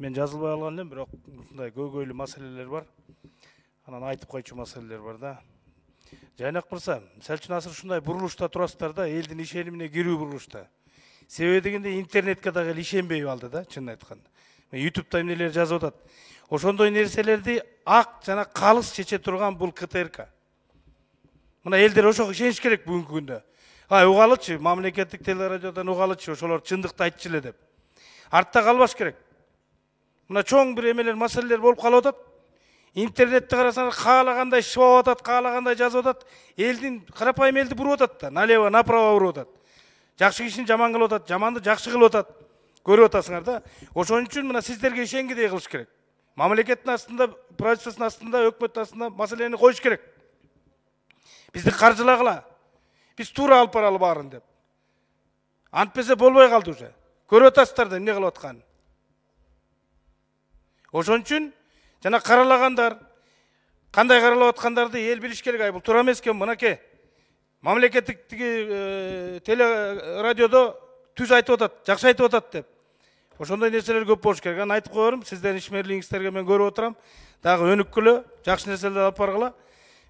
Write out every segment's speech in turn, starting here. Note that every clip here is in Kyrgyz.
Мен жазылбай алган элем, бирок мындай көйгөйлүү маселелер бар. Анан айтып койчу маселелер бар да. Жайнак мырза, мисалы үчүн азыр ушундай бурулушта турасыздар да, элдин ишенимине кирүү бурулушта. Себеби дегенде интернетке дагы ишенбей калды да, чынын айтканда. YouTube'да эмнелер жазып атат. Ошондой нерселерди ак жана калыс чече турган бул КТРК. Мына элдер ошого ишениш керек бүгүнкү күндө. Угалычы, мамлекеттик телерадиодон угалычы, ошолор чындыкты айтчу эле деп. Артта калбаш керек. Мына чоң бир эмелер, маселелер болуп калып атат. Интернетте карасаңар каалагандай шыбап атат, каалагандай жазып атат. Элдин карапайым элди буруп атат да, налево, направо буруп атат. Жакшы кишини жаман кылып атат, жаманды жакшы кылып атат. Көрүп атасыңар да. Ошон үчүн мына сиздерге ишенгидей кылыш керек. Мамлекеттин астында, правительствонун астында, өкмөттүн астында маселени коюш керек. Бизди каржылагыла. Биз туура алып баралы баарын деп. Антпесе болбой калды уже. Көрүп атасыздар да эмне кылып атканын. Ошон үчүн жана каралагандар, кандай каралап аткандарды эл билиш керек. Бул туура эмес экен, мынакей. Мамлекеттик телерадиодо түз айтып атат, жакшы айтып атат деп. Ошондой нерселер көп болуш керек. Анан айтып коерум, сиздердин ишмерлигиңиздерге мен көрүп отурам. Дагы өнүккүлө, жакшы нерселерди алып баргыла.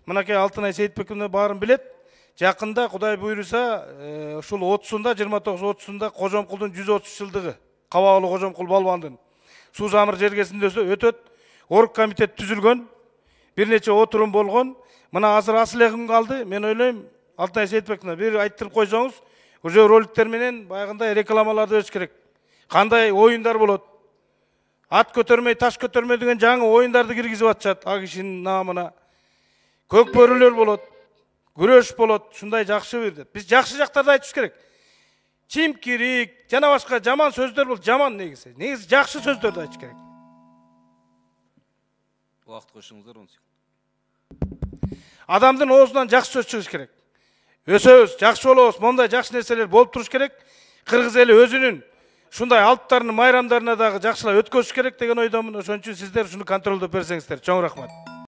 Мынакей Алтынай Сейитбековна баарын билет. Жакында Кудай буйруса, ушул 30-сунда, 29-30-сунда Кожомкулдун 130 жылдыгы. Кабагылуу Кожомкул балбандын суу замыр жергесинде өтөт. Орг комитет түзүлгөн, бир нече отурум болгон. Мына азыр асыл күн калды. Мен ойлойм, Алтынай Сейитбековна бир айттырып койсоңуз, уже роликтер менен баягындай рекламаларды бериш керек. Кандай оюндар болот? Ат көтөрмөй, таш көтөрмөй деген жаңы оюндарды киргизип атышат а кишинин наамына. Көк бөрүлөр болот, күрөш болот, ушундай жакшы бир деп. Биз жакшы жактарды айтыш керек. Чимкирик, жана башка жаман сөздөр бол, жаман негизи. Негизи жакшы сөздөрдү айтыш керек. Убакыт коюшуңуздар 10 секунд. Адамдын оозунан жакшы сөз чыгыш керек. Өсөбүз, жакшы болобуз, мондай жакшы нерселер болуп туруш керек. Кыргыз эли өзүнүн ушундай алыптарынын, майрамдарына дагы жакшылап өткөзүш керек деген ойдомун. Ошон үчүн сиздер ушуну контролдоп берсеңиздер. Чоң рахмат.